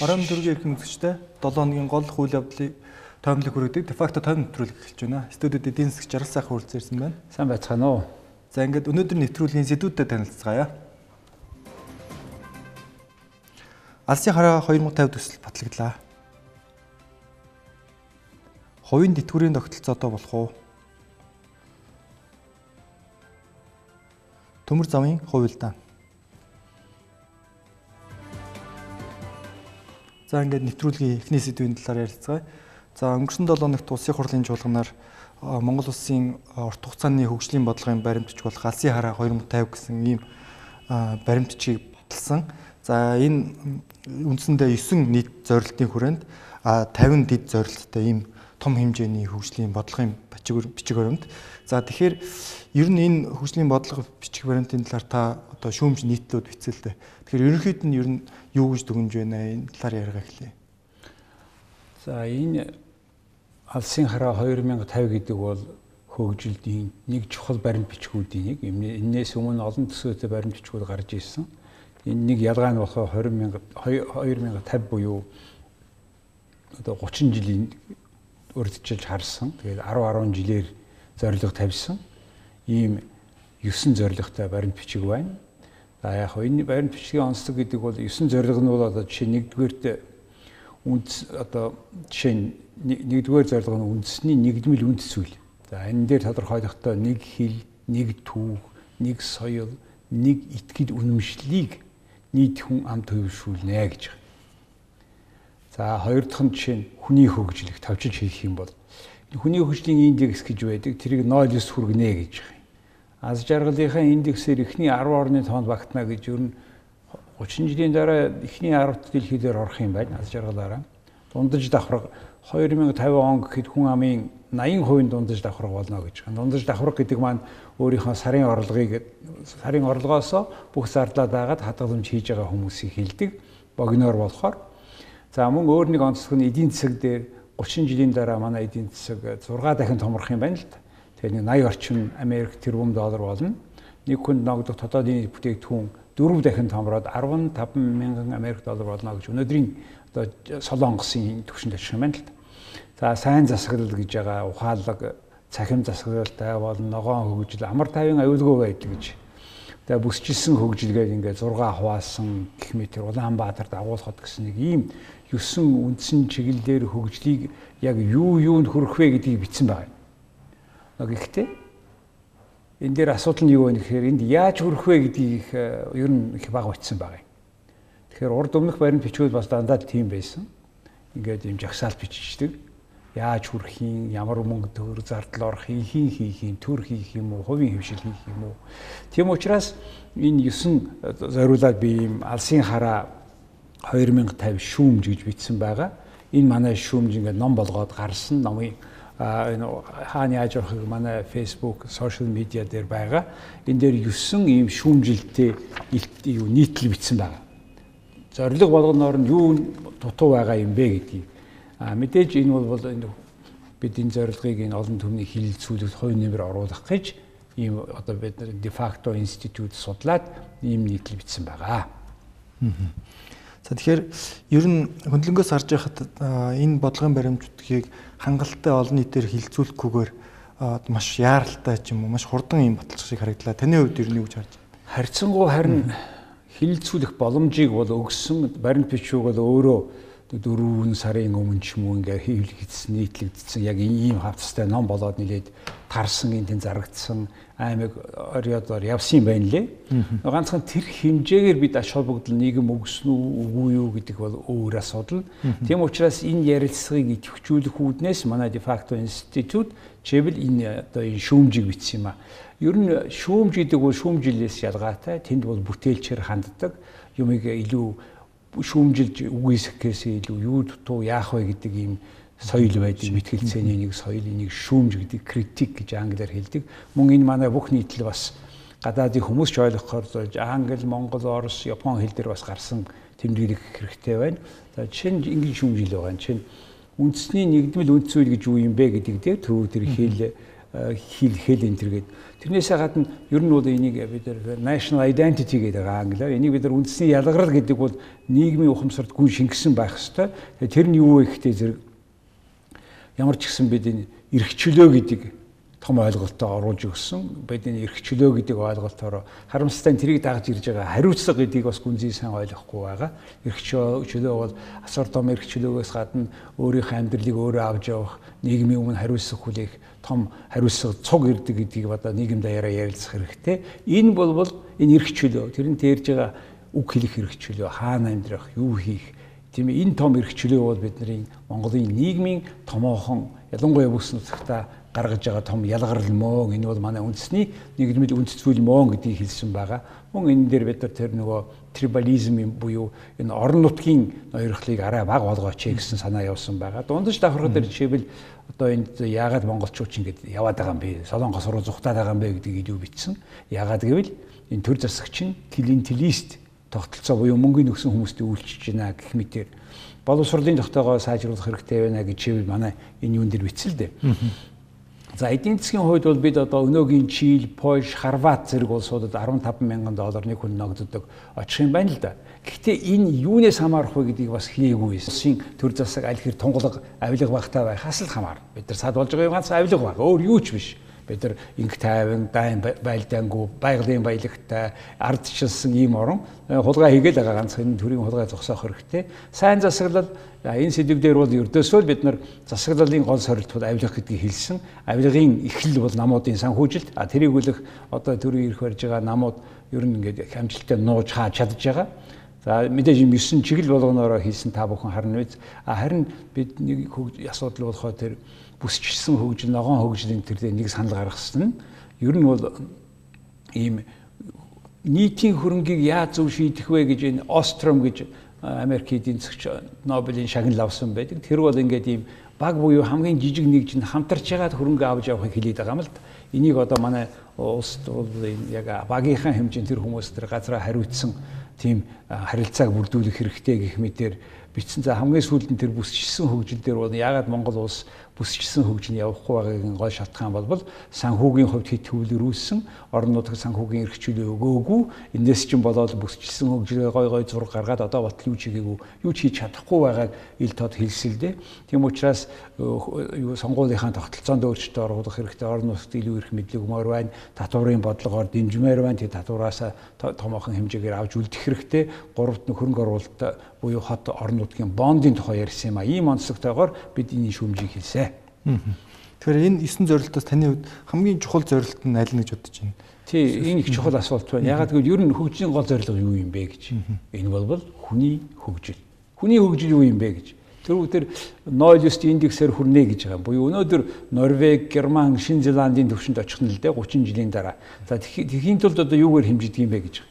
Орон төвийн эрхэм үзэгчтэй 7 хоногийн гол үйл явдлыг тоомлог хүргэдэг дефакто тойм нэвтрүүлэг эхэлж байна. Студиуд эдийн засаг жаргал сайхан хүрэлцээрсэн байна. Сайн байцгаана уу. За ингээд өнөөдөр нэвтрүүлгийн сэдвүүдэд танилцгаая. Алсын хараа 2050 төсөл батлагдлаа. Хувийн тэтгэврийн тогтолцоотой болох уу? Төмөр замын хувилдаан. За ингээд нэвтрүүлгийн эхний сэдвийн талаар ярилцгаая. За өнгөрсөн 7 хоногт улсын хурлын чуулганаар Монгол улсын урт хугацааны хөгжлийн бодлогын баримтч болох Алсын хараа 2050 гэсэн ийм баримтчийг баталсан. За энэ үндсэндээ 9 нийт зорилтын хүрээнд 50 дид зорилттой ийм том хэмжээний хөгжлийн бодлогын бичиг баримт. За тэгэхээр ер нь энэ хөгжлийн бодлого бичиг баримтын талаар та одоо шүүмж нийтлүүд бичсэлтэй. Тэгэхээр ерөнхийд нь ер нь юу гэж дүгнж байна энэ талаар яриага эхлэе. За энэ Алсын хараа 2050 гэдэг бол хөгжилийн нэг чухал баримт бичгүүдийн нэг. Энээс өмнө олон төсөөтэй баримт бичгүүд гарч ирсэн. Энэ нэг ялгаа нь болохоор 2050 буюу одоо 30 жилийн урьдчилж харсан. Тэгээд 10 жилээр зорилго тавьсан. Ийм 9 зорилготой баримт бичиг байна. За яг энэ баримт бичгийн онцлог гэдэг бол 9 зорилго нь бол одоо жишээ нэгдүгээрт нэгдүгээр зорилго нь үндэсний нэгдмэл үндэс зүйл. За энэ дээр тодорхойлохдоо нэг хил, нэг түүх, нэг соёл, нэг итгэл үнэмшлийг нийт хүн амт хөвшүүлнэ гэж байна. За хоёр дахь нь жишээ нь хүний хөгжлийг тавчилж хийх юм бол хүний хөгжлийн индекс гэж байдаг. Тэрийг 0.9 хүргэнэ гэж байна. Аз жаргалынхаа индексээр эхний 10 орны тоонд багтана гэж ер нь 30 жилийн дараа эхний 10-т дэлхийдээр орох юм байна. Аз жаргалаараа. Дундаж давхраг 2050 он гэхэд хүн амын 80% дундаж давхраг болно гэж байна. Дундаж давхраг гэдэг маань өөрийнхөө сарын орлогоос бүх зардлаа дагаад хадгаламж хийж байгаа хүмүүсийг хэлдэг. Богиноор болохоор. За мөн өөр нэг онцлог нь эдийн засаг дээр 30 жилийн дараа манай эдийн засаг 6 дахин томрох юм байна л да. Тэгэхээр 80 орчим Америк тэрбум доллар болно. Нэг хүнд ногдох тодоодын бүтээгдэхүүн 4 дахин томроод 15 мянган Америк доллар болно гэж өнөөдрийн одоо Солонгосын түвшинд очих юм байна л да. За сайн засаглал гэж байгаа ухаалаг, цахим засаглалтай болон ногоон хөгжил, амар тайван аюулгүй байдаг гэж. Тэгээ бүсчилсэн хөгжилгээд ингээд 6 хуваасан гэх мэт Улаанбаатар дагуулхад гэсэн нэг ийм 9 үндсэн чиглэлээр хөгжлийг яг юунд хүрэх вэ гэдгийг бичсэн байна. Гэхдээ энэ дээр асуудал нь юу вэ гэхээр энд яаж хүрэх вэ гэдгийг ер нь их бага бичсэн байгаа юм. Тэгэхээр урд өмнөх баримт бичгүүд бас дандаа тийм байсан. Ингээд юм жагсаалт биччихдэг. Яаж хүрэх юм, ямар мөнгө төгрөг зардал орох, хийх юм, төр хийх юм уу, хувийн хөвшил хийх юм уу. Тийм учраас энэ 9 зориулаад би ийм Алсын хараа 2050 шүүмж гэж бичсэн байгаа. Энэ манай шүүмж ингээд ном болгоод гарсан. Номын энэ хаана яаж явахыг манай Facebook, social media дээр байгаа. Энэ дээр 9 ийм шүүмжилттэй нийтлэл бичсэн байгаа. Зорилго болгоноор нь юу дутуу байгаа юм бэ гэдгийг. Мэдээж энэ бол бид энэ зорилгыг энэ олон түвний хилэлцүүлэгт хувь нэмэр оруулах гэж ийм одоо бид дефакто институт судлаад ийм нийтлэл бичсэн байгаа. За тэгэхээр ер нь хөндлөнгөөс харж байхад энэ бодлогын баримтуудыг хангалттай олон нийтээр хилцүүлэхгүйгээр маш яаралтай ч юм уу маш хурдан юм баталчих шиг харагдлаа. Таны хувьд ер нь юу гэж харж байна? Харьцангуй харин хилцүүлэх боломжийг бол өгсөн баримт бичвэг бол өөрөө 4 сарын өмнө ч юм уу ингээ хийлэгдсэн нийтлэгдсэн яг ийм хавцастай ном болоод нилээд тарсан энэ зарагдсан аймаг орёодоор явсан юм байна лээ. Ганцхан тэр хэмжээгээр бид ач холбогдол нийгэм өгсөн үү үгүй юу гэдэг бол өөр асуудал. Тийм учраас энэ ярилцлагыг идэвхжүүлэх үүднээс манай дефакто институт чивэл энэ одоо энэ шүүмжийг бичсэн юм а. Ер нь шүүмж гэдэг бол шүүмжилээс ялгаатай. Тэнд бол бүтээлчээр ханддаг юмыг илүү шүүмжилж үгүйсэхээс илүү юу дутуу яах вэ гэдэг ийм соёл байдаг. Мэтгэлцээний нэг соёл, энийг шүүмж гэдэг критик гэж англиар хэлдэг. Мөн энэ манай бүх нийтлэл бас гадаадын хүмүүс ч ойлгохоор зорж англи, монгол, орос, япон хэл дээр бас гарсан тэмдэглэх хэрэгтэй байна. За жишээ нь ингийн шүүмжил байгаа. Жишээ нь үндэсний нэгдмэл үндс зүйл гэж юу юм бэ гэдэг дээр тэр хэл хэл энэ төргээд тэрнээсээ гадна ер нь бол энийг бид нар national identity гэдэг англиар энийг бид нар үндэсний ялгарл гэдэг бол нийгмийн ухамсарт гүн шингэсэн байх ёстой. Тэр нь юу вэ гэхдээ зэрэг ямар ч гэсэн бид энэ эрх чөлөө гэдэг том ойлголтоо оруулж өгсөн. Бид энэ эрх чөлөө гэдэг ойлголтоор харамсалтай тэрийг дагж ирж байгаа хариуцлага гэдгийг бас гүнзгий сайн ойлгохгүй байгаа. Эрх чөлөө бол асар том эрх чөлөөгөөс гадна өөрийнхөө амьдралыг өөрөө авч явах, нийгмийн өмнө хариуцлага хүлээх том хариуцлага цуг ирдэг гэдгийг одоо нийгэм даяараа ярилцах хэрэгтэй. Энэ бол энэ эрх чөлөө. Тэрэн дээрж байгаа үг хэлэх эрх чөлөө, хаана амьдрах, юу хийх. Тийм энэ том эрх чөлөө бол бидний Монголын нийгмийн томоохон ялангуяа бүс нутагта гаргаж байгаа том ялгарл мөн энэ бол манай үндэсний нийгмийн үндэс зүйл мөн гэдгийг хэлсэн байгаа. Мөн энэ дээр бид нар тэр нөгөө трибализм буюу энэ орон нутгийн ноёрхлыг арай бага болгооч гэсэн санаа явуулсан байгаа. Дундаж давхрах дээр жишээлбэл одоо энд яагаад монголчууд ч ингэж яваад байгаа юм бэ? Солонгос руу зүхтаад байгаа юм бэ гэдгийг юу бичсэн. Яагаад гэвэл энэ төр засагч нь клиентелист тогтолцоо буюу мөнгөний өгсөн хүмүүстэй үйлчилж байна гэх мэтээр боловсролын тогтоогоо сайжруулах хэрэгтэй байна гэж чивэл манай энэ юун дээр бичсэн л дээ. За эдийн засгийн хувьд бол бид одоо өнөөгийн Чили, Польш, Хорват зэрэг улсуудад $15,000 нэг хүн ногддог очих юм байна л да. Гэхдээ энэ юунаас хамаарах вэ гэдгийг бас хэлээгүй. Улсын төр засаг аль хэр тунгалаг авилга багтаа байхаас л хамаарна. Бид нар сад болж байгаа юм ганц авилга баг. Өөр юу ч биш. Бид нар инх тайван, дайн байлдаангүй, байгалийн баялагтай, ардчилсан ийм орон хулгай хийгээд байгаа ганц энэ төрийн хулгай зогсоох хэрэгтэй. Сайн засаглал энэ сэдв дээр бол ердөөсөө бид нар засаглалын гол сорилтууд авилга гэдгийг хэлсэн. Авилгын эхлэл бол намуудын санхүүжилт. Тэрийг үлэх одоо төрийн ирэх барьж байгаа намууд ер нь ингээд хамжилттай нууж хааж чадж байгаа. За мэдээж юм 9 чиглэл болгоноороо хийсэн та бүхэн харна биз. Харин бид нэг асуудал болохоо тэр бүсчилсэн хөгжил, ногоон хөгжлийн тэр нэг санал гаргасан нь ер нь бол ийм нийтийн хөрөнгийг яаж зөв шийдэх вэ гэж энэ Остром гэж Америк эдийн засагч Нобелийн шагнал авсан байдаг. Тэр бол ингээд ийм баг буюу хамгийн жижиг нэгжинд хамтарч ягаад хөрөнгө авч явахыг хэлээд байгаа юм л да. Энийг одоо манай улсд бол яг багийнхаа хэмжээнд тэр хүмүүс тэр газраа хариуцсан тийм харилцааг бүрдүүлэх хэрэгтэй гэх мэтээр бичсэн. За хамгийн сүүлд нь тэр бүсчилсэн хөгжил дээр бол ягаад Монгол улс бүсчилсэн хөгжил явахгүй байгаагийн гол шалтгаан бол санхүүгийн хувьд хит хөвлөрүүлсэн, орон нутгийн санхүүгийн эрх чөлөө өгөөгүй, энэс чинь болоод бүсчилсэн хөгжлөө гой зураг гаргаад одоо батал юу ч хийгээгүй, юу ч хийж чадахгүй байгааг ил тод хэлсэлдэ. Тийм учраас сонгуулийнхаа тогтолцоонд өөрчлөлт оруулах хэрэгтэй, орон нутгад илүү их мэдлэг өгмөр байна, татварын бодлогоор дэмжмээр байна. Тэр татвараас томоохон хэмжээгээр авч үлдэх хэрэгтэй. Гуравт нь хөрөнгө оруулалт буюу хот орон нутгийн бондын тухай ярьсан юм а. Ийм онцлогтойгоор бид энэ шүүмжийг хэлсэн. Тэгэхээр энэ 9 зорилтоос таны хувьд хамгийн чухал зорилт нь аль нь гэж бодож байна? Тий, энэ их чухал асуулт байна. Ягаад гэвэл ер нь хөгжлийн гол зорилго юу юм бэ гэж. Энэ бол хүний хөгжил. Хүний хөгжил юу юм бэ гэж. Тэр Noilist индексээр хүрнэ гэж байгаа. Буюу өнөөдөр Норвеги, Герман, Шинэ Зеландийн төвшөнд очих нь л дээ 30 жилийн дараа. За тэхийн тулд одоо юугаар хэмжиж юм бэ гэж.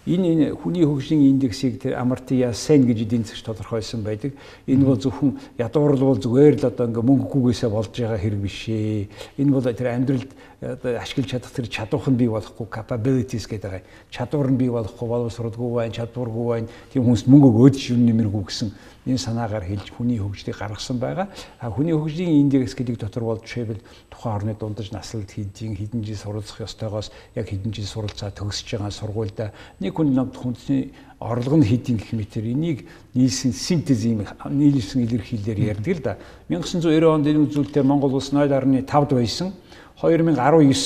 Энэ хүний хөгжлийн индексийг тэр Амартия Сен гэж эдийн засагч тодорхойлсон байдаг. Энэ бол зөвхөн ядуурл бол зүгээр л одоо ингээ мөнгөгүйгээсээ болж байгаа хэрэг биш ээ. Энэ бол тэр амьдралд ашиглаж чадах тэр чадвар нь бий болохгүй capabilities гэдэг. Чадвар нь бий болохгүй, боловсролгүй байна, чадваргүй байна. Тийм хүмүүст мөнгө өгөөд шивэн нэмэргүй гэсэн энэ санаагаар хэлж хүний хөгжлийг гаргасан байгаа. Хүний хөгжлийн индекс гэдэг дотор бол жишээлбэл тухайн орны дундаж наслалт хэдэн жил суралцах ёстойгоос яг хэдэн жил суралцаа төгсөж байгаа сургуультай нэг хүнсний орлого нь хэдийн гэх мэтэр энийг нийлсэн синтез ийм нийлсэн илэрхийлэлээр ярьдаг л да. 1990 онд энэ үзүүлэлтээр Монгол улс 0.5 байсан. 2019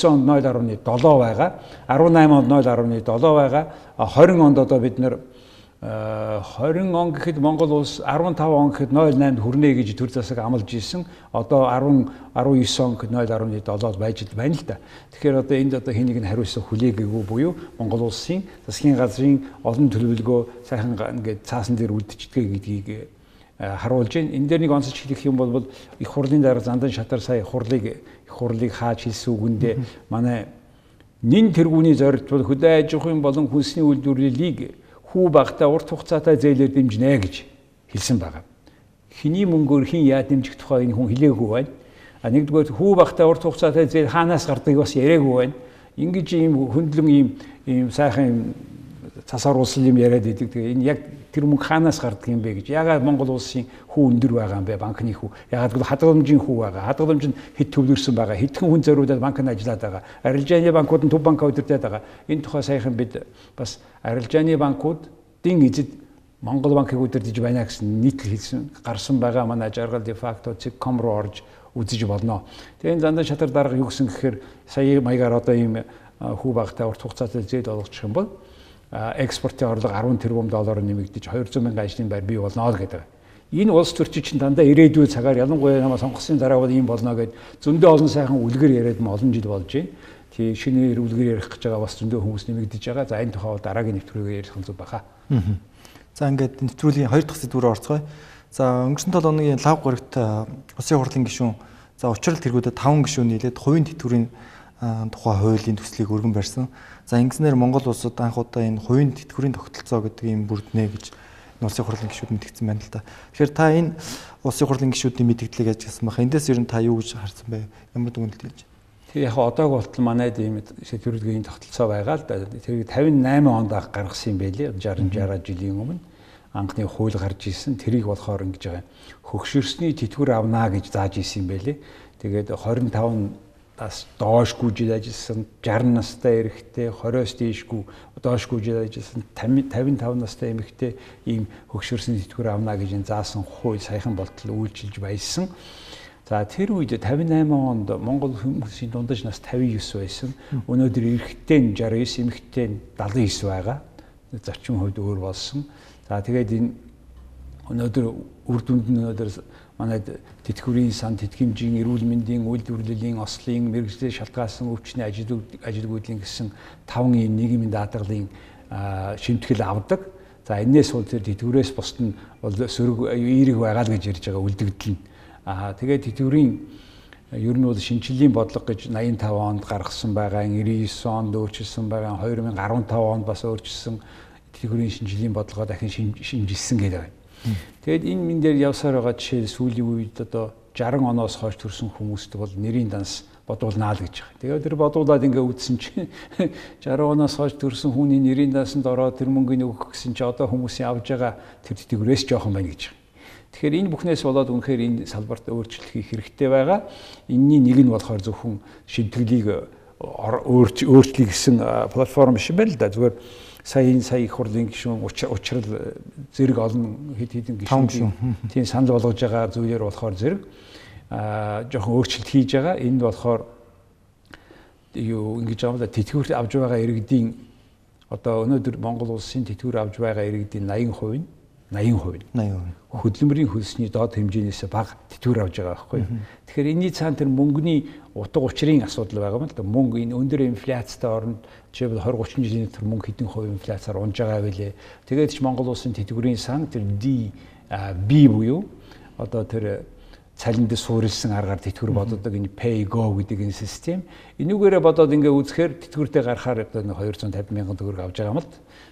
онд 0.7 байгаа. 18 онд 0.7 байгаа. 20 онд одоо бид нэр 20 он гэхэд Монгол улс 15 он гэхэд 0.8 хүрнэ гэж төр засаг амлаж исэн. Одоо 19 он гэхэд 0.7 байж байна л да. Тэгэхээр одоо энд одоо хэнийг нь хариуцсан хүлээгээгүй буюу Монгол улсын засгийн газрын олон төлөвлөгөө сайхан ингээд цаасан дээр үлдчихдэг гэдгийг харуулж байна. Энэ дээр нэг онцлж хэлэх юм бол их хурлын дараа зандан шатар сая их хурлыг хааж хэлсэн үгэндээ манай нэн тэргүүний зорилт бол хөдөө аж ахуйн болон хүнсний үйлдвэрлэлийг хүү багтаа урт хугацаатай зээлээр дэмжинэ гэж хэлсэн байгаа. Хиний мөнгөөр хин яа дэмжих тухай энэ хүн хэлээгүй байна. Нэгдүгээр хүү багтаа урт хугацаатай зээл хаанаас гардыг бас яриаггүй байна. Ингэж ийм хөндлөн ийм сайхан цасаар улсал юм яриад идэг. Тэгээ энэ яг Тэр мөнгө хаанаас гардаг юм бэ гэж. Яагаад Монгол улсын хүү өндөр байгаа юм бэ? Банкны хүү. Яагаад гэвэл хадгаламжийн хүү байгаа. Хадгаламж нь хэд төвлөрсөн байгаа. Хэдхэн хүн зориулаад банкнд ажиллаад байгаа. Арилжааны банкуд нь төв банк удирдах байгаа. Энэ тухай саяхан бид бас арилжааны банкуудын эзэд Монгол банкыг удирдах байна гэсэн нийтлэл хэлсэн гарсан байгаа манай жаргал де факто цэгком руу орж үзэж болно. Тэгээ энэ дандаа шатар дарга юу гэсэн гэхээр сая маягаар одоо ийм хүү багтай урт хугацаатай зээл олгочих юм бол экспортын орлого 10 тэрбум доллараар нэмэгдэж 200 мянган ажлын байр бий болно гэдэг. Энэ улс төрчин чинь дандаа ирээдүйн цагаар ялангуяа намаа сонгосон дараа бол ийм болно гэд зөндөө олон сайхан үлгэр яриад олон жил болж байна. Тий шинээр үлгэр ярих гэж байгаа бас зөндөө хүмүүс нэмэгдэж байгаа. За энэ тухай бол дараагийн нэвтрүүлгээр ярих нь зүг баха. За ингээд нэвтрүүлгийн 2 дахь сэдвүүрээ орцгоё. За өнгөрсөн 7 хоногийн лав горигт Улсын хурлын гишүүн за учрал тэргүүдэд 5 гишүүн нийлээд хувийн тэтгэврийн тухай хуулийн төслийг өргөн барьсан. За ингэснээр Монгол улсад анх удаа энэ хувийн тэтгэврийн тогтолцоо гэдэг юм бүрднэ гэж Улсын хурлын гишүүд мэдгдсэн байна л да. Тэгэхээр та энэ Улсын хурлын гишүүдийн мэдгдлийг яаж гисэн баха? Эндээс ер нь та юу гэж харсан бэ? Ямар дүгнэлт хэлж байна? Тэгээ яг одоог болтол манайд ийм сэдвэрийн тогтолцоо байгаа л да. Тэр 58 онд гаргасан юм байлээ. 60 жилийн өмнө анхны хууль гарч ирсэн. Тэрийг болохоор ингэж байгаа. Хөгшөрсний тэтгэвэр авнаа гэж зааж ирсэн юм байлээ. Тэгээд 25-аас доошгүй жил ажилласан 60 настай эрэгтэй, 20-оос дээшгүй доошгүй жил ажилласан 55 настай эмэгтэй ийм хөгшөрсний тэтгэвэр авнаа гэж заасан хууль саяхан болтол үйлчилж байсан. За тэр үед 58 онд Монгол хүмүүсийн дундаж нас 59 байсан. Өнөөдөр эрэгтэй нь 69, эмэгтэй нь 79 байгаа. Зарчим хувьд өөр болсон. За тэгээд энэ өнөөдөр үр дүнд нь өнөөдөр манайд тэтгэврийн сан, тэтгэмжийн, эрүүл мэндийн, үйлдвэрлэлийн, ослын, мэргэжлийн шалтгаалсан өвчний ажилгүйдлийн гэсэн 5 ийм нийгмийн даатгалын шимтгэл авдаг. За энэс бол тэр тэтгэврээс бусд нь бол сөрөг эерэг байгаа л гэж ярьж байгаа үлдэгдэл нь. Тэгээд тэтгэврийн ер нь бол шинжилгээний бодлого гэж 85 онд гаргасан байгаа, 99 онд өөрчилсөн байгаа, 2015 онд бас өөрчилсөн тэтгэврийн шинжилгээний бодлогоо дахин шинжилсэн гэдэг байна. Тэгэд энэ мэн дээр явсаар байгаа жишээ сүүлийн үед одоо 60 оноос хойш төрсэн хүмүүст бол нэрийн данс бодуулнаа л гэж байгаа. Тэгээд тэр бодуулаад ингээ үдсэн чинь 60 оноос хойш төрсэн хүний нэрийн дансанд ороод тэр мөнгөний өгөх гэсэн чи одоо хүмүүсийн авж байгаа тэр тэтгэврээс жоохон байна гэж байгаа. Тэгэхээр энэ бүхнээс болоод үнэхээр энэ салбарт өөрчлөлт хийх хэрэгтэй байгаа. Энийний нэг нь болохоор зөвхөн шимтгэлийг өөрчлөе гэсэн платформ биш байна л да. Зүгээр сая их хурлын гишүүн учрал зэрэг олон хэдэн гишүүн тийм санал болгож байгаа зүйлээр болохоор зэрэг жоохон өөрчлөлт хийж байгаа. Энд болохоор юу ингэж байгаа юм да тэтгэвэр авж байгаа иргэдийн одоо өнөөдөр Монгол улсын тэтгэвэр авж байгаа иргэдийн 80% хөдөлмөрийн хөлсний доод хэмжээнээс бага тэтгэвэр авж байгаа байхгүй. Тэгэхээр энэний цаана тэр мөнгөний утга учирын асуудал байгаа юм л да. Мөнгө энэ өндөр инфляцтай оронд жишээлбэл 20-30 жилийн дотор мөнгө хэдэн хувийн инфляцаар унж байгаа байлээ. Тэгээд ч Монгол улсын тэтгэврийн сан тэр B буюу одоо тэр цалинд суурилсан аргаар тэтгэвэр боддог энэ pay go гэдэг энэ систем. Энүүгээрээ бодоод ингээ үзэхээр тэтгэвртэй гарахаар одоо 250 мянган төгрөг авж байгаа юм л.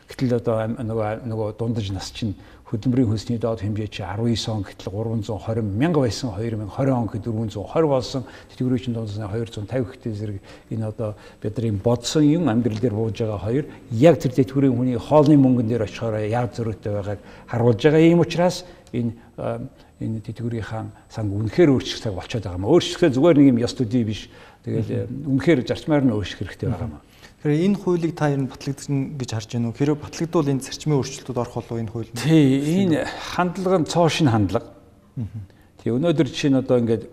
Гэтэл одоо нөгөө дундаж нас чинь хөдөлмөрийн хөлсний доод хэмжээ чи 19 он гэтэл 320 мянга байсан 2020 он гэхэд 420 болсон тэтгэврийн чинь дундаж 250 гэхтэй зэрэг энэ одоо бидний бодсон юм амьдрал дээр бууж байгаа хоёр яг тэр тэтгэврийн хүний хоолны мөнгөн дээр очихоор яг зөрүүтэй байгааг харуулж байгаа юм учраас энэ тэтгэврийн санг үнэхээр өөрчлөлт болчиход байгаа юм. Өөрчлөлтөө зүгээр нэг юм ёс төдий биш. Тэгэл үнэхээр зарчмаар нь өөрчлөх хэрэгтэй байгаа юм. Тэгэхээр энэ хуулийг та ер нь батлагдсан гэж харж байна уу? Хэрэв батлагдвал энэ зарчмын өөрчлөлтүүд орох болов энэ хууль нь? Тий, энэ хандлага нь цоо шин хандлага. Тий, өнөөдөр жишээ нь одоо ингээд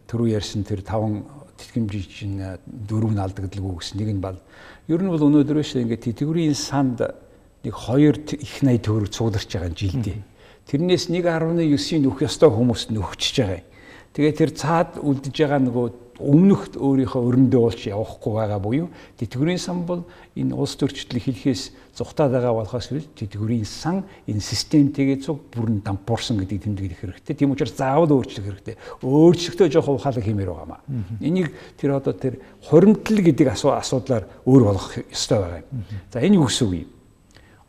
түрүү ярьсан тэр 5 тэтгэмжийн чинь 4 нь алдагдaltaгүй гэсэн нэг нь бол ер нь бол өнөөдөр биш ингээд тэтгэврийн санд нэг 2 их 80 төгрөг цугларч байгаа жилдээ. Тэрнээс 1.9-ийн нөх ёстой хүмүүст нөхчихөж байгаа юм. Тэгээ тэр цаад үлдэж байгаа нөгөө өмнөх өөрийнхөө өрөндөө уулч явахгүй байгаа буюу тэтгэврийн сан бол энэ улс төрчлөлийг хэлхээс зүхтаад байгаа болохоос тэтгэврийн сан энэ системтэйгээ цуг бүрэн дампуурсан гэдгийг тэмдэглэх хэрэгтэй. Тийм учраас заавал өөрчлөх хэрэгтэй. Өөрчлөлтөө жоохон ухаалаг хэмээр байгаамаа. Энийг тэр одоо тэр хуримтлал гэдэг асуудлаар өөр болгох ёстой байгаа юм. За энэ юу гэсэн үг юм?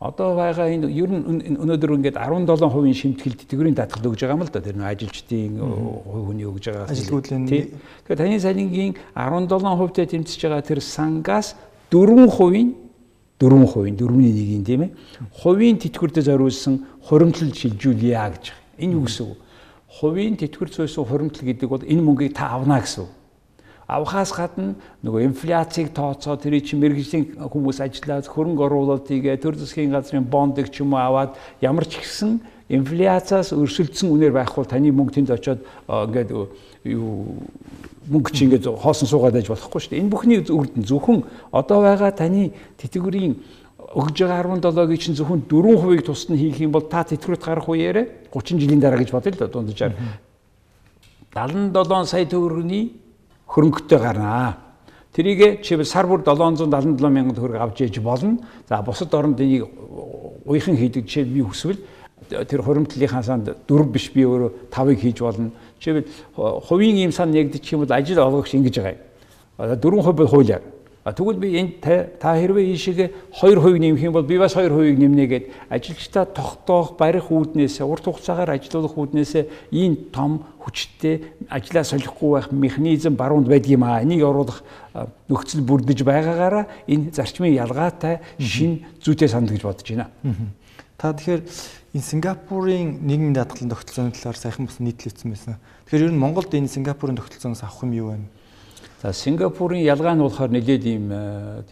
Одоо байгаа энэ ер нь өнөөдөр ингээд 17% шимтгэл тэтгэврийн даатгал өгж байгаа юм л да. Тэр нэг ажилчдын хүний өгж байгаа. Ажилгүйдлийн. Тэгэхээр таны салингийн 17%-тэй тэмцэж байгаа тэр сангаас 4% 4%, 4.1 тийм ээ. Хувийн тэтгэвртэй зориулсан хуримтлал шилжүүлье гэж. Энэ юу гэсэн үг? Хувийн тэтгэвэр зүйсэн хуримтлал гэдэг бол энэ мөнгийг та авна гэсэн үг. Авахаас гадна нөгөө инфляцийг тооцоо тэр чинь мэргэжлийн хүмүүс ажиллаад хөрөнгө оруулалт хийгээ төр засгийн газрын бондыг ч юм уу аваад ямар ч ихсэн инфляцаас өрсөлдсөн үнээр байхгүй таны мөнгө тэнд очиод ингээд юу мөнгө чи ингээд хоосон суугаад байж болохгүй шүү дээ. Энэ бүхний үрдэн зөвхөн одоо байгаа таны тэтгэврийн өгж байгаа 17-гийн чинь зөвхөн 4% тусна хийх юм бол та тэтгэврт гарах үеэрээ 30 жилийн дараа гэж бодъё л да дунджаар 77 сая төгрөгийн хөрөнгөтэй гарнаа. Тэрийг чи сар бүр 777 мянган төгрөг авч яж болно. За бусад оронд энийг уяхан хийдэг жишээ би хүсвэл тэр хуримтлалынхаа санд 4 биш би өөрөө 5-ыг хийж болно. Жишээлбэл хувийн ийм сан нэгдчих юм бол ажил олгогч ингэж байгаа юм. 4% бол хуулиар. Тэгвэл би энэ та хэрвээ ийшээгээ 2% нэмэх юм бол би бас 2% нэмнэ гэд ажилчдаа тогтоох барих үүднээс урт хугацаагаар ажилуулах үүднээс ийм том хүчтэй ажлаа солихгүй байх механизм баруунд байдаг юм аа. Энийг оруулах нөхцөл бүрдэж байгаагаараа энэ зарчмын ялгаатай шин зүйтэй санд гэж бодож байна. Та тэгэхээр энэ Сингапурын нийгмийн даатгалын тогтолцооны талаар сайхан бас нийтлэгдсэн байсан. Тэгэхээр ер нь Монголд энэ Сингапурын тогтолцооноос авах юм юу вэ? За Сингапурын ялгаа нь болохоор нэлээд ийм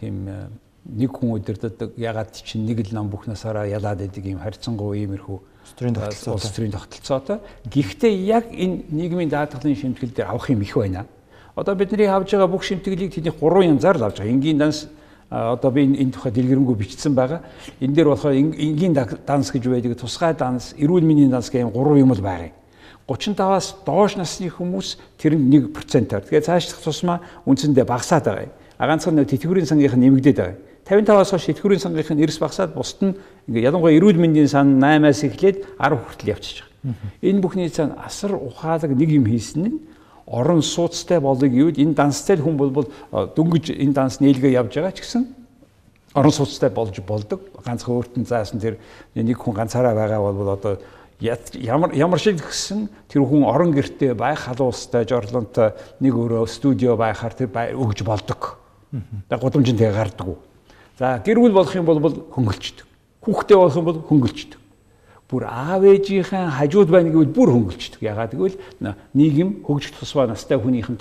тийм нэг хүн удирддаг ягаад чинь нэг л нам бүх насаараа ялаад байдаг ийм харьцангуй иймэрхүү улс төрийн тогтолцоотой. Гэхдээ яг энэ нийгмийн даатгалын шимтгэл дээр авах юм их байна. Одоо бидний авж байгаа бүх шимтгэлийг тэдний 3 янзаар л авж байгаа. Энгийн данс одоо би энэ тухай дэлгэрэнгүй бичсэн байгаа. Энэ дээр болохоор энгийн данс гэж байдаг, тусгай данс, эрүүл мэндийн данс гэх юм 3 юм л байгаа. 35-аас доош насны хүмүүс тэр нь 1%-аар. Тэгээд цаашлах тусмаа үндсэндээ багасаад байгаа юм. Ганцхан тэтгэврийн сангийнх нь нэмэгдээд байгаа юм. 55-аас хойш тэтгэврийн сангийнх нь эрс багасаад бусд нь ингээ ялангуяа эрүүл мэндийн сан 8-аас эхлээд 10 хүртэл явчихж байгаа. Энэ бүхний цаана асар ухаалаг нэг юм хийсэн нь орон сууцтай болыг юуд энэ данстай хүн бол дөнгөж энэ данс нээлгээ явж байгаа ч гэсэн орон сууцтай болж болдог. Ганцхан өөртөө заасан тэр нэг хүн ганцаараа байгаа бол одоо ямар шиг гэсэн тэр хүн орон гэртээ байх халуустай жорлонтой нэг өөрөө студио байхаар тэр өгж болдог. Тэгээ гудамжинтэй гардаггүй. За гэр бүл болох юм бол хөнгөлчдөг. Хүүхдээ болох юм бол хөнгөлчдөг. Бүр аав ээжийнхэн хажууд байна гэвэл бүр хөнгөлчдөг. Ягаад гэвэл нийгэм хөгжих тусмаа настай хүнийх нь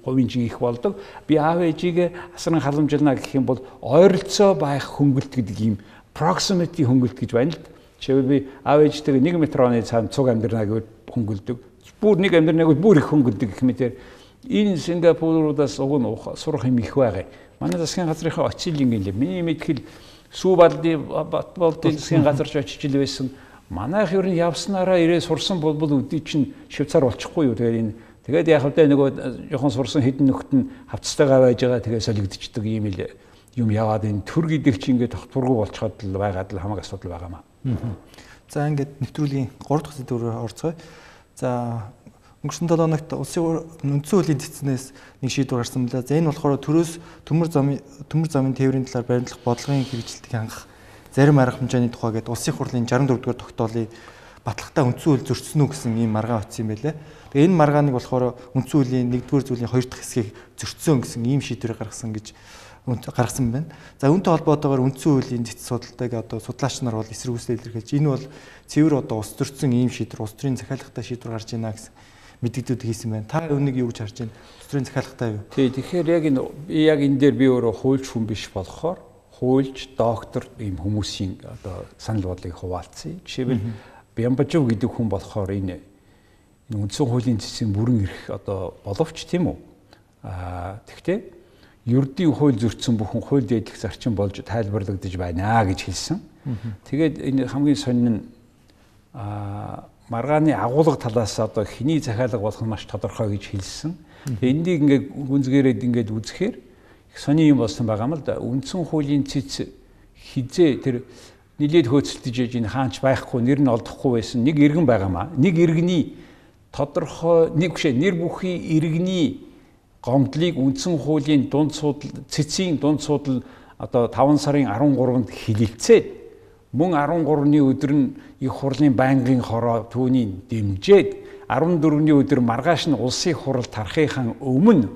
хувийн жиг их болдог. Би аав ээжигээ асран халамжилна гэх юм бол ойролцоо байх хөнгөлт гэдэг ийм proximity хөнгөлт гэж байна л. Жишээлбэл би аав ээжтэйгээ 1 метроны цаанд цуг амьдрна гэвэл хөнгөлдөг. Бүр нэг амьдрнаг бол бүр их хөнгөлдөг гэх мэтэр энэ Сингапуруудаас уг нь сурах юм их байгаа. Манай засгийн газрынхаа очилын юм. Миний мэдхэл сүү балдын засгийн газарч очиж ил байсан. Манайх ер нь явснараа ирээ сурсан бол өдий чинь Швейцар болчихгүй юу. Тэгээд яг л да нөгөө жоохон сурсан хэдэн нөхд нь хавцтайгаа байж байгаа тэгээ солигдчихдаг юм л юм яваад энэ төр гэдэг чинь ингээд тогтворгүй болчиход л байгаад л хамаг асуудал байгаамаа. За ингээд нэвтрүүлгийн 3 дахь сэдвээр орцгоё. За өнгөрсөн 7 хоногт улсын үндсэн хуулийн цэцнээс нэг шийдвэр гарсан байна. За энэ болохоор төрөөс төмөр замын тээврийн талаар баримтлах бодлогын хэрэгжилтийг хангах зарим арга хэмжээний тухай гэдэг улсын хурлын 64 дугаар тогтоолыг батлагтаа үндсэн хууль зөрчсөн үү гэсэн ийм маргаан утсан юм байлээ. Тэгээ энэ маргааныг болохоор үндсэн хуулийн 1-р зүйлийн 2 дахь хэсгийг зөрчсөн гэсэн ийм шийдвэр гаргасан байна. За үүнтэй холбоотойгоор үндсэн хуулийн цэц судалтайг одоо судлаач нар бол эсэргүүцэл илэрхийлж энэ бол цэвэр одоо ус зөрчсөн ийм шийдвэр, улс төрийн захиалгатай шийдвэр гарч ийна гэсэн мэдээлэлүүд хийсэн байна. Та үүнийг юу гэж харж байна? Улс төрийн захиалгатай юу? Тий, тэгэхээр яг энэ дээр би өөрөө хуульч хүн биш болохоор хуульч, доктор ийм хүмүүсийн одоо санал бодлыг хуваалцъя. Жишээлбэл Бямбажов гэдэг хүн болохоор энэ үндсэн хуулийн цэцийн бүрэн эрх одоо боловч тийм үү? Тэгвэл ердийн хууль зөрчсөн бүхэн хууль дээдлэх зарчим болж тайлбарлагдаж байна гэж хэлсэн. Тэгээд энэ хамгийн сонин нь маргааны агуулга талаас одоо хэний захиалга болох нь маш тодорхой гэж хэлсэн. Тэгээд энийг ингээд гүнзгийрээд ингээд үзэхээр их сони юм болсон байгаа юм л да. Үндсэн хуулийн цэц хизээ тэр нилээд хөөцөлдөж яж энэ хаанч байхгүй нэр нь олдохгүй байсан нэг иргэн байгаамаа. Нэг иргэний тодорхой нэг бишээ нэр бүхий иргэний гомдлыг үндсэн хуулийн дунд судал цэцийн дунд судал одоо 5 сарын 13-нд хилэлцээд мөн 13-ны өдөр нь их хурлын байнгын хороо түүнийг дэмжиж 14-ний өдөр маргааш нь улсын хурал тарахын өмнө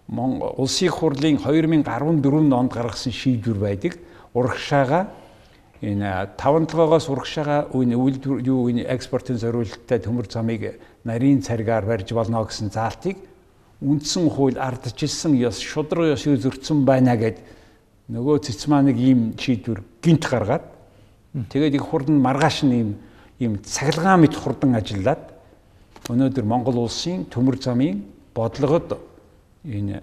улсын хурлын 2014 онд гаргасан шийдвэр байдаг. урагшаага энэ 5-7-оос урагшаага энэ экспортын зориулалттай төмөр замыг нарийн царгаар барьж болно гэсэн заалтыг үндсэн хууль ардчилсан ёс шудраг ёсыг зөрчсөн байна гэд нөгөө цэцмаа нэг ийм шийдвэр гинт гаргаад тэгээд их хурдан маргааш нь ийм цахилгаан мэт хурдан ажиллаад өнөөдөр Монгол улсын төмөр замын бодлогод энэ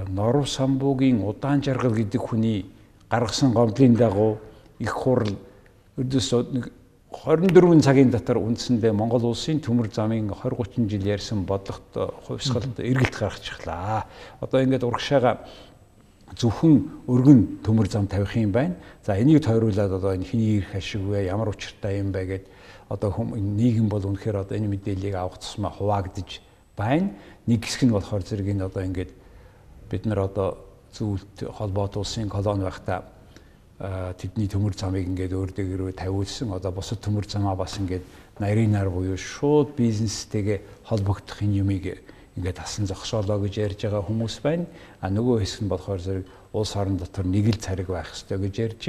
Норов Самбуугийн Удаан Жаргал гэдэг хүний гаргасан гомдлын дагуу их хурл ердөөс 24 цагийн дотор үндсэндээ Монгол улсын төмөр замын 20-30 жил ярьсан бодлогот хувьсгалд эргэлт гаргачихлаа. Одоо ингээд урагшаага зөвхөн өргөн төмөр зам тавих юм байна. За энийг тойруулаад одоо энэ хний ирэх ашиг вэ, ямар учиртай юм бэ гэд одоо нийгэм бол үнэхээр одоо энэ мэдээллийг авах тусмаа хуваагдаж байна. Нэг хэсэг нь болохоор зэрэг энэ одоо ингээд бид нар одоо зөвлөлт холбоот улсын колони байхдаа тэдний төмөр замыг ингээд өөр дээгээрөө тавиулсан. Одоо бусад төмөр замаа бас ингээд нарийнаар буюу шууд бизнестэйгээ холбогдох юмыг ингээд тасан зогсоолоо гэж ярьж байгаа хүмүүс байна. Нөгөө хэсэг нь болохоор зэрэг улс орон дотор нэг л цариг байх ёстой гэж ярьж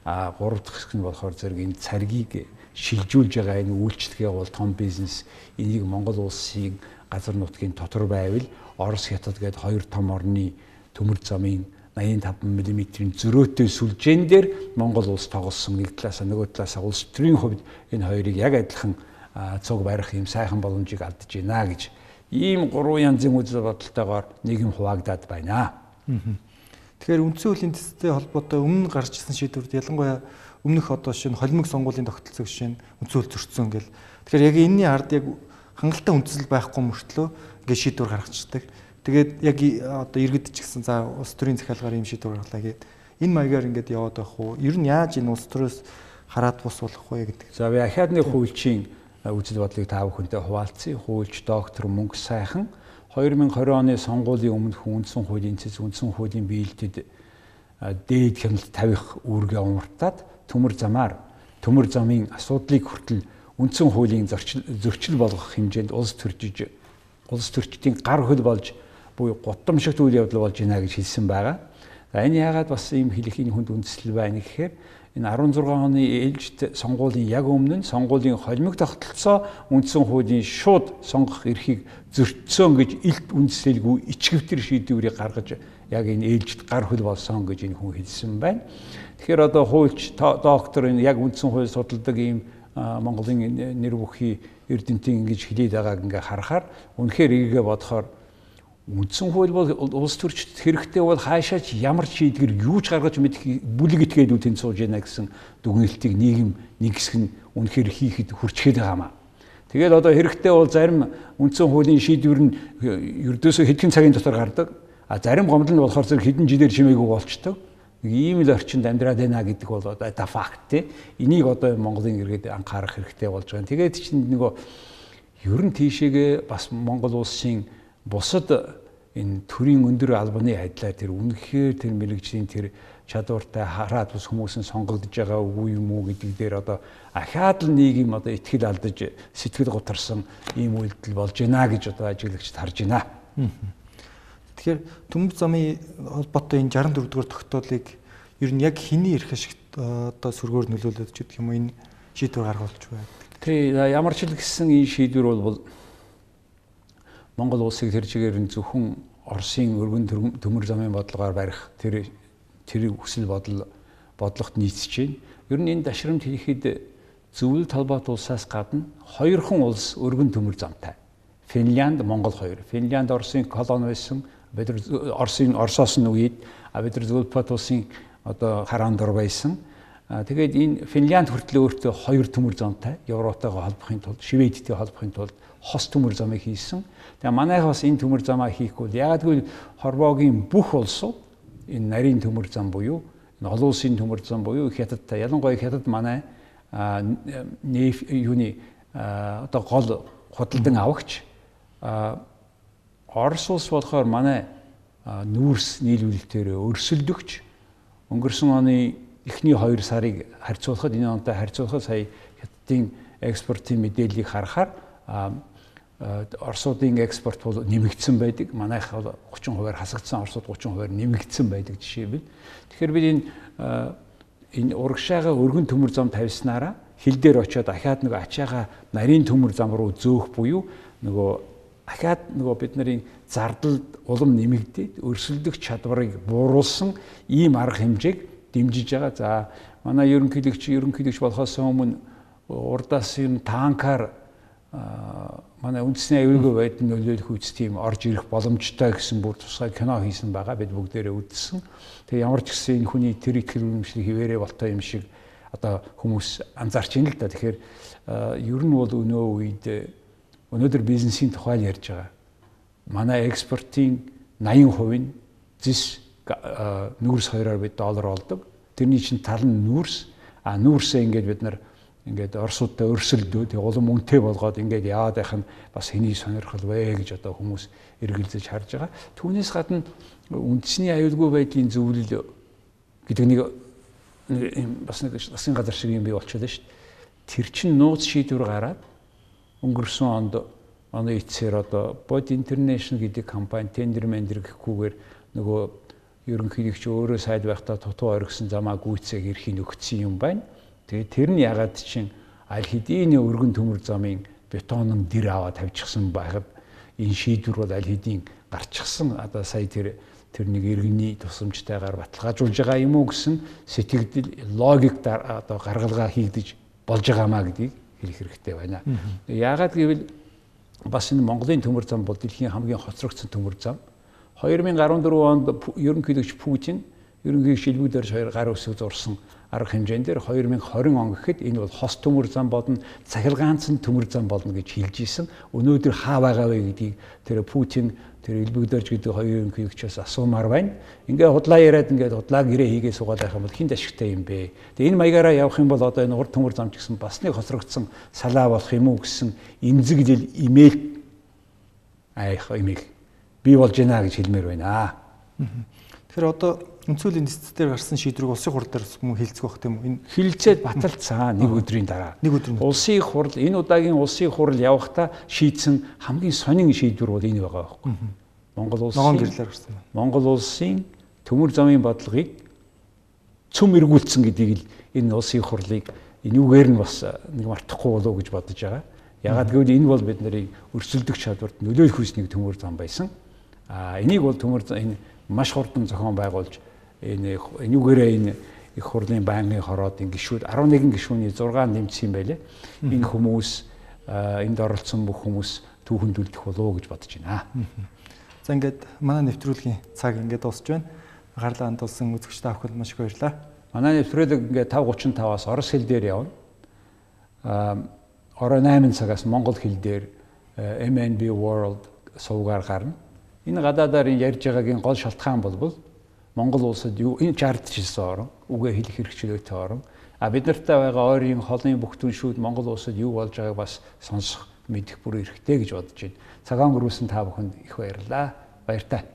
байна. Гурав дахь хэсэг нь болохоор зэрэг энэ царгийг шилжүүлж байгаа энэ үйлчлэгээ бол том бизнес энийг Монгол улсын газар нутгийн дотор байвал Орос, Хятад гээд хоёр том орны төмөр замын 85 мм-ийн зөрөөтэй сүлжээн дээр Монгол улс тоглосон нэг талаасаа нөгөө талаасаа улс төрийн хувьд энэ хоёрыг яг адилхан цуг барих юм сайхан боломжийг алдаж байна гэж ийм гурван янзын үзэл бодолтойгоор нийгэм хуваагдаад байна. Тэгэхээр үндсэн хуулийн төстэй холбоотой өмнө гарч ирсэн шийдвэрд ялангуяа өмнөх одоо шинэ холимог сонгуулийн тогтолцоог шинэ үндсэн хууль зөрчсөн гэл. Тэгэхээр яг энэний ард яг хангалттай үндсэл байхгүй мөртлөө ингээд шийдвэр гаргачихдаг. Тэгээд яг одоо иргэд ч гэсэн за улс төрийн захиалгаар ийм шийдвэр гаргалаа гэдэг. Энэ маягаар ингээд яваад байх уу? Ер нь яаж энэ улс төрөөс хараад бус болох вэ гэдэг. За би ахаадны хуульчийн үзэл бодлыг та бүхэнтэй хуваалцъя. Хуульч доктор Мөнгө Сайхан 2020 оны сонгуулийн өмнөх үндсэн хуулийн цэц үндсэн хуулийн биелэлтэд дээд хяналт тавих үүргээ умартаад төмөр замын асуудлыг хүртэл үндсэн хуулийн зөрчил болгох хэмжээнд улс төрчдийн гар хөл болж буюу гудамжигт үйл явдал болж байна гэж хэлсэн байгаа. За энэ яагаад бас ийм хэлэхийн хүнд үндэслэл байна гэхээр энэ 16 оны ээлжид сонгуулийн яг өмнө нь сонгуулийн холимог тогтолцоо үндсэн хуулийн шууд сонгох эрхийг зөрчсөн гэж илт үндэслэлгүй ичгэвтер шийдвэрийг гаргаж яг энэ ээлжид гар хөл болсон гэж энэ хүн хэлсэн байна. Тэгэхээр одоо хуульч доктор энэ яг үндсэн хууль судалдаг ийм Монголын нэр бүхий эрдэмтэн ингэж хэлээд байгааг ингээ харахаар үнэхээр эгээгээ бодохоор үндсэн хууль бол улс төрчид хэрэгтэй бол хаашаач ямар шийдвэр юу ч гаргаж мэдэх бүлэг итгээд үтэн сууж яана гэсэн дүгнэлтийг нийгэм нэг хэсэг нь үнэхээр хийхэд хүрчгээд байгаамаа. Тэгээд одоо хэрэгтэй бол зарим үндсэн хуулийн шийдвэр нь ердөөсөө хэдхэн цагийн дотор гардаг. Зарим гомдол нь болохоор зэрэг хэдэн жилээр чимээгүй болчдөг. Ийм л орчинд амьдраад байна гэдэг бол одоо факт тий. Энийг одоо Монголын иргэд анхаарах хэрэгтэй болж байгаа. Тэгээд чинь нөгөө ер нь тийшээгээ бас Монгол улсын бусад энэ төрийн өндөр албаны адилаар тэр үнэхээр тэр мэрэгжлийн тэр чадвартай хараад бас хүмүүс нь сонгогдож байгаа үгүй юм уу гэдэг дээр одоо ахаад л нийгэм одоо итгэл алдаж сэтгэл гутарсан ийм үйлдэл болж байна гэж одоо ажиглагчид харж байна. Тэгэхээр төмөр замын холбоотой энэ 64 дугаар тогтоолыг ер нь яг хэний эрх ашигт одоо сөргөөр нөлөөлөд ч гэх юм уу энэ шийдвэр гаргуулж байна. Тий, ямар ч л гэсэн энэ шийдвэр бол Монгол улсыг тэр чигээр нь зөвхөн Оросын өргөн төмөр замын бодлогоор барих тэр хүсэл бодлогот нийцэж байна. Ер нь энэ дашрамт хийхэд зөвлөлт холбоот улсаас гадна хоёрхан улс өргөн төмөр замтай. Финлянд, Монгол хоёр. Финлянд Оросын колони байсан. Бид Оросоос нь үед бид нар зөвлөлт улсын одоо хараан дор байсан. Тэгээд энэ Финлянд хүртэл өөртөө хоёр төмөр замтай Европтойгоо холбохын тулд, Шведтэй холбохын тулд хос төмөр замыг хийсэн. Тэгээ манайх бас энэ төмөр замаа хийхгүй. Яг гэвэл Хорвоогийн бүх улсууд энэ нарийн төмөр зам буюу энэ олон улсын төмөр зам буюу Хятадтай ялангуяа Хятад манай юуны одоо гол худалдан авагч Орос улс болохоор манай нүүрс нийлүүлэлтээр өрсөлдөгч өнгөрсөн оны эхний 2 сарыг харьцуулахад энэ онтой харьцуулахад сая Хятадын экспортын мэдээллийг харахаар Оросуудын экспорт бол нэмэгдсэн байдаг. Манайх бол 30% хасагдсан, Оросууд 30% нэмэгдсэн байдаг жишээ бий. Тэгэхээр бид энэ урагшаага өргөн төмөр зам тавьснараа хил дээр очиод дахиад нөгөө ачаага нарийн төмөр зам руу зөөх буюу нөгөө дахиад нөгөө бидний зардал улам нэмэгдээд өрсөлдөх чадварыг бууруулсан ийм арга хэмжээг дэмжиж байгаа. За манай ерөнхийлөгч болохоос өмнө урдаас юм танкаар манай үндэсний аюулгүй байдлыг нөлөөлөх үс тийм орж ирэх боломжтой гэсэн бүр тусгай кино хийсэн байгаа. Бид бүгдээрээ үзсэн. Тэгээ ямар ч гэсэн энэ хүний тэр итгэл үнэмшлийг хിവэрэ болтой юм шиг одоо хүмүүс анзаарч ийн л да. Тэгэхээр ер нь бол өнөөдөр бизнесийн тухай ярьж байгаа. Манай экспортын 80% нь зис нүүрс хоёроор бид доллар олдог. Тэрний чинь тал нь нүүрс. Нүүрсээ ингээд бид нар ингээд Оросуудтай өрсөлдөө тэг улам үнэтэй болгоод ингээд яваад байх нь бас хэний сонирхол вэ гэж одоо хүмүүс эргэлзэж харж байгаа. Түүнээс гадна үндэсний аюулгүй байдлын зөвлөл гэдэг нэг бас нэг засгийн газар шиг юм бий болчихлоо шүү дээ. Тэр чин нууц шийдвэр гараад өнгөрсөн онд оны эцсээр одоо Bod International гэдэг компани тендер мендер гэхгүйгээр нөгөө ерөнхийлөгч өөрөө сайд байхдаа тутуу оргисон замаа гүйцээг эрхийн өгсөн юм байна. Тэгээ тэр нь ягаад чинь аль хэдийн өргөн төмөр замын бетонын дэр аваад тавьчихсан байхад энэ шийдвэр бол аль хэдийн гарчихсан. Одоо сая тэр нэг иргэний тусламжтайгаар баталгаажуулж байгаа юм уу гэсэн сэтгэгдэл логик одоо гаргалгаа хийгдэж болж байгаамаа гэдгийг хэлэх хэрэгтэй байна. Яагаад гэвэл бас энэ Монголын төмөр зам бол дэлхийн хамгийн хоцрогдсон төмөр зам. 2014 онд ерөнхийлөгч Путин ерөнхийлөгч Илбэг Дорж хоёр гар үсэг зурсан арга хэмжээнд дээр 2020 он гэхэд энэ бол хос төмөр зам болно, цахилгаанцсан төмөр зам болно гэж хэлж исэн. Өнөөдөр хаа байгаа вэ гэдгийг тэр Путин, тэр Илбэг Дорж гэдэг хоёр ерөнхийлөгчөөс асуумаар байна. Ингээ худлаа яриад ингээд худлаа гэрээ хийгээ суугаад байх юм бол хин ашигтай юм бэ. Тэгээ энэ маягаараа явах юм бол одоо энэ урд төмөр зам ч гэсэн бас нэг хоцрогдсон салаа болох юм уу гэсэн эмзэглэл имэйл бий болж байна гэж хэлмээр байна. Тэгэхээр одоо өнцөлийн дэцтээр гарсан шийдвэрийг улсын хурал дээр мөн хилцэх байх тийм үү? Энэ хилцээд баталцсан нэг өдрийн дараа. Улсын хурал энэ удаагийн улсын хурал явахдаа шийдсэн хамгийн сонин шийдвэр бол энэ байгаа байхгүй. Монгол улсын төмөр замын бодлогыг цөм эргүүлсэн гэдгийг л энэ улсын хурлыг энүүгээр нь бас нэг мартахгүй болов уу гэж бодож байгаа. Ягаад гэвэл энэ бол бидний өрсөлдөх чадварт нөлөөлөх хүсний төмөр зам байсан. Энийг бол энэ маш хурдан зохион байгуулж энүүгээрээ энэ их хурлын байнгын хороод гишүүд 11 гишүүний 6 нэмсэн юм байлээ. Энэ хүмүүс энд оролцсон бүх хүмүүс түүхэнд үлдэх болов уу гэж бодож байна. За ингээд манай нэвтрүүлгийн цаг ингээд дуусч байна. Гарлаа хандуулсан үзэгч та бүхэнд маш их баярлалаа. Манай нэвтрүүлэг ингээд 5:35-аас орос хэл дээр явна. Орой 8 цагаас монгол хэл дээр MNB World сувгаар гарна. Энэ гадаадаар ярьж байгаагийн гол шалтгаан бол Монгол улсад юу энэ чардчилсан орн, үгээ хэлэх хэрэгчлөөтэй орн. Бид нартай байгаа ойрын холын бүх түншүүд Монгол улсад юу болж байгааг бас сонсох мэдэх бүр хэрэгтэй гэж бодож байна. Цагаан гөрөөсөн та бүхэнд их баярлалаа. Баяртай.